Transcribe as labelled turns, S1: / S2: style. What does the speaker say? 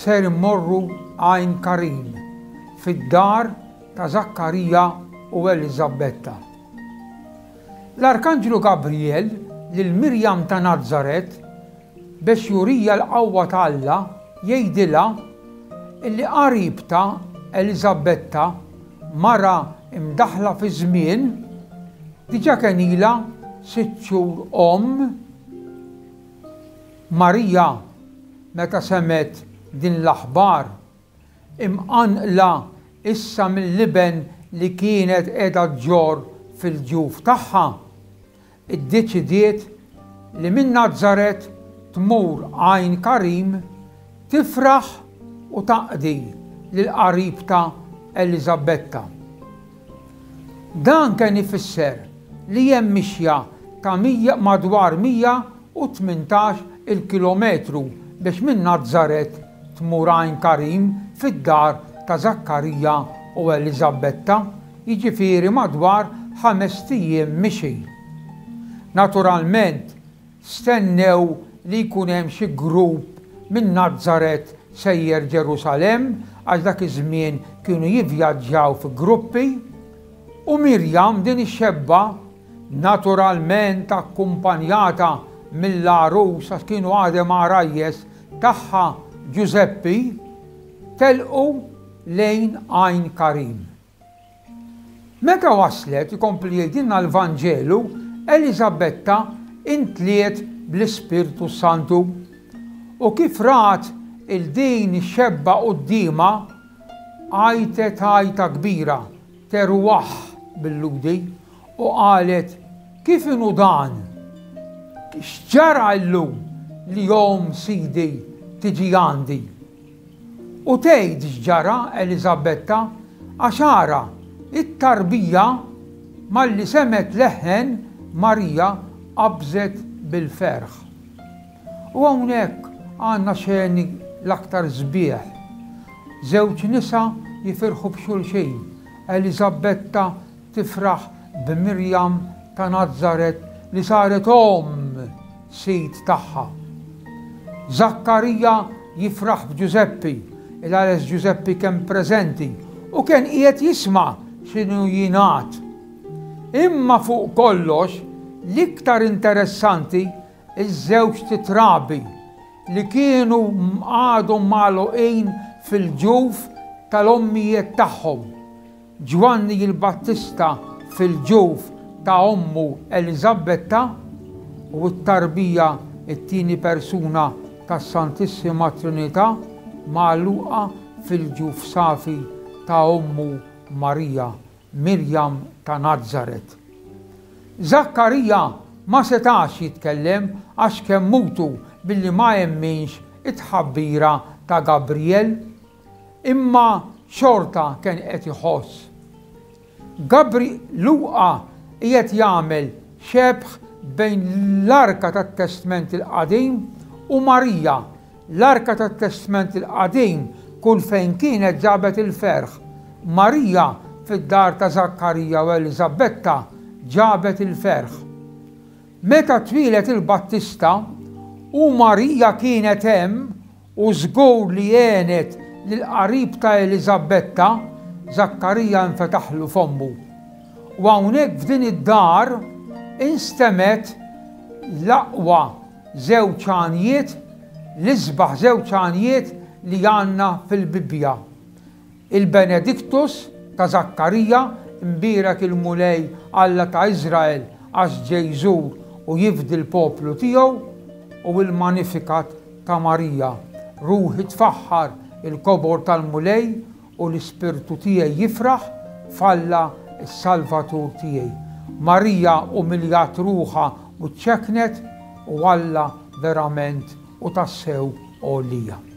S1: ser immorru Għajn Karim, fid-dar ta' Żakkarija u Eliżabetta. L-Arkanġlu Gabriel lil Mirjam ta' Nazaret biex jurija l-qawwa ta' Alla jgħidilha illi qaribtha Eliżabetta, mara imdaħħla fiż-żmien, diġà kien ilha sitt xhur omm. Marija meta semgħet din l-aħbar, imqanqla issa mill-iben li kienet qiegħda ġġorr fil-ġuf tagħha, iddeċidiet li minn Nazaret tmur Għajn Karim tifraħ u taqdi lil qaribtha Eliżabetta. Dan kien ifisser li hemm mixja ta' madwar 118 il kilometru biex minn Nazaret tmur Għajn Karim fid-dar ta' Żakkarija u Eliżabetta, jiġifieri madwar ħamest ijiem mixi. Naturalment, stennew li jkun hemm xi grupp minn Nazaret sejjer Ġerusalemm għax dak iż-żmien kienu jivvjaġġaw fi gruppi, u Mirjam, din ix-xebba, naturalment akkumpanjata mill-għarus għax kienu għadhom għarajjes tagħha Ġużeppi, telqu lejn Għajn Karim. Meta waslet, ikompli jgħidilna l-Vanġelu, Eliżabetta intliet bl-Ispirtu s-Santu. U kif rat 'il din ix-xebba quddiemha, għajtet għajta kbira, teruah bil-Lhudi, u qalet, Kif inhu dan? X'ġara llum li omm Sidi tiġi għandi? U tgħid x'ġara Eliżabetta, għax ara, it-tarbija, malli semgħet leħen Marija qabżet bil-ferħ. U hawnhekk għandna xeni l-aktar sbieħ. Żewġ nisa jifirħu b'xulxin, Eliżabetta tifraħ b'Mirjam ta' Nazaret li saret omm Sid tagħha. Żakkarija jifraħ b'Ġużeppi, il-għares Ġużeppi kien preżenti u kien qiegħed jisma' x'inhu jingħad. Imma fuq kollox, l-iktar interessanti ż-żewġt itrabi li kienu għadhom magħluqin fil-ġuf tal-ommijiet tagħhom. Ġwanni l-Battista fil-ġuf ta' ommu Eliżabetta u t-tarbija, it-tieni persuna tas-Santissima Trinità, magħluqa fil-ġuf safi ta' ommu Marija, Mirjam ta' Nazaret. Żakkarija ma setax jitkellem għax kemm mutu billi ma emminx it-tħabbira ta' Gabriel. Imma xorta kien qed iħoss. Gabri Luqa qiegħed jagħmel xebh bejn l-Arka tat-Testment il-Qadim u Marija. L-Arka tat-Testment il-Qadim kull fejn kienet ġabet il-ferħ. Marija fid-dar ta' Żakkarija u Eliżabetta ġabet il-ferħ. Meta twieled il-Battista u Marija kienet hemm U żgur li għenet lill-qarib ta' Eliżabetta, Żakkarija infetaħlu fommu. U hawnhekk f'din id-dar instemgħet l-aqwa żewġ għanjiet, l-isbaħ żewġ għanjiet li għandna fil-Bibbja. Il-Benedictus ta' Żakkarija, Imbierek il-Mulej Alla ta' Iżrael għax ġej jżur u jifdi l-poplu tiegħu, u il-Magnificat ta' Marija, Ruħi tfaħħar il-kobor tal-Mulej u l-ispirtu tiegħi jifraħ f'Alla s-Salvatur tiegħi. Marija umiljat ruħha u ċċekknet u Alla verament u tassew għolija.